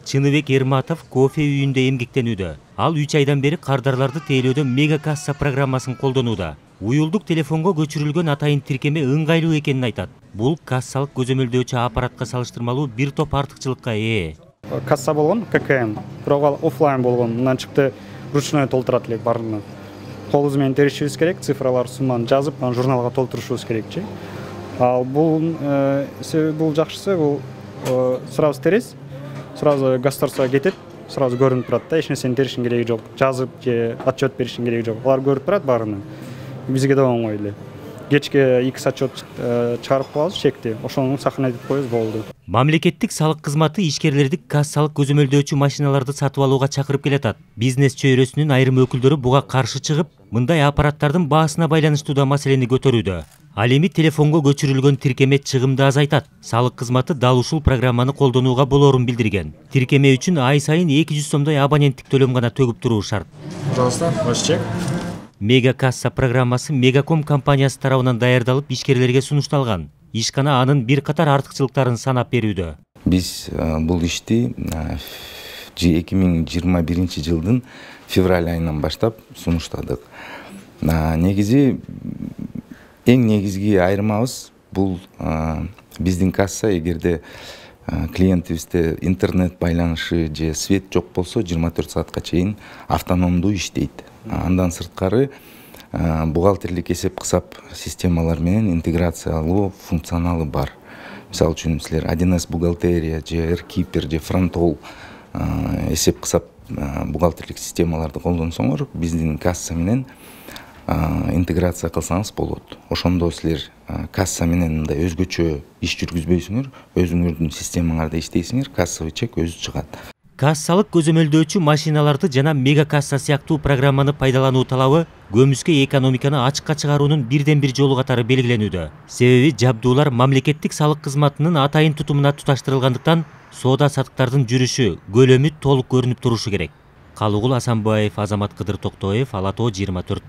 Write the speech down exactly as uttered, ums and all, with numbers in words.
Чыныбек Эрматов кофе үйүндө эмгектенүүдө. Ал үч айдан бери кардарларды тейлөөдө мега касса программасын колдонууда. Уюлдук телефонго көчүрүлгөн атайын тиркеме ыңгайлуу экенин айтат. Бул кассалык көзөмөлдөөчү аппаратка салыштырмалуу бир топ артыкчылыкка ээ. Касса болгон ка ка эм, бирок офлайн болгон. Мындан чыкты ручной толтурат элек баарын. Колубуз менен теришибиз керек, цифралар сумманы жазып, анан журналга толтурушубуз керекчи. Ал бул бул жакшысы, бул сразу терес, сразу государствого кетет, сразу көрүнүп турат да, эч нерсени теришиң кереги жок, жазып же отчет беришиң кереги жок. Алар көрүп турат баарына. Бизге да оңой эле. Кечке эки отчет чыгарып коебуз, чекти. Ошону сохранять коебуз, болду. Мамлекеттик салык кызматы ишкерлерди кассалык көзөмөлдөөчү машиналарды сатып алууга чакырып келатат. Бизнес чөйрөсүнүн айрым өкүлдөрү буга каршы чыгып, мындай аппараттардын баасына байланыштуу да маселени көтөрүүдө. Ал эми телефонго көчүрүлгөн тиркеме чыгымды азайтат. Салык кызматы дал ушул программаны колдонууга болоорун билдирген. Тиркеме үчүн ай сайын эки жүз сомдой абоненттик төлөм гана төгүп туруу шарт. Пожалуйста, ваш чек. Мега касса программасы Мегаком компаниясы тарабынан даярдалып ишкерлерге сунушталган. Ишкана анын бир катар артыкчылыктарын санап берүүдө. Биз бул ишти эки миң жыйырма биринчи жылдын февраль айынан баштап сунуштадык. Негизи эң негизги айырмабыз бул биздин касса, эгерде клиентибизде интернет байланышы же свет жок болсо жыйырма төрт саатка чейин автономдуу иштейт. Андан сырткары бухгалтерлик эсеп-кысап системалар менен интеграциялуу функционалы бар. Мисалы үчүн силер один эс бухгалтерия же эркипер же фронтол эсеп-кысап бухгалтерлик системаларды колдонсоңор, биздин касса менен интеграция кылсаңыз болот. Ошондо силер касса менен мындай өзгөчө иш жүргүзбөйсүңөр, өзүңөрдүн системаңарда иштейсиңер, кассовый чек өзү чыгат. Кассалык көзөмөлдөөчү машиналарды жана мега касса сыяктуу программаны пайдалануу талабы көмүскө экономиканы ачыкка чыгаруунун бирден бир жолу катары белгиленүүдө. Себеби жабдуулар мамлекеттик салык кызматынын атайын тутумуна туташтырылгандыктан соода саттыктардын жүрүшү, көлөмү толук көрүнүп турушу керек. Калыгул Асанбаев, Азамат Кыдыр Токтоев, Ала тоо жыйырма төрт.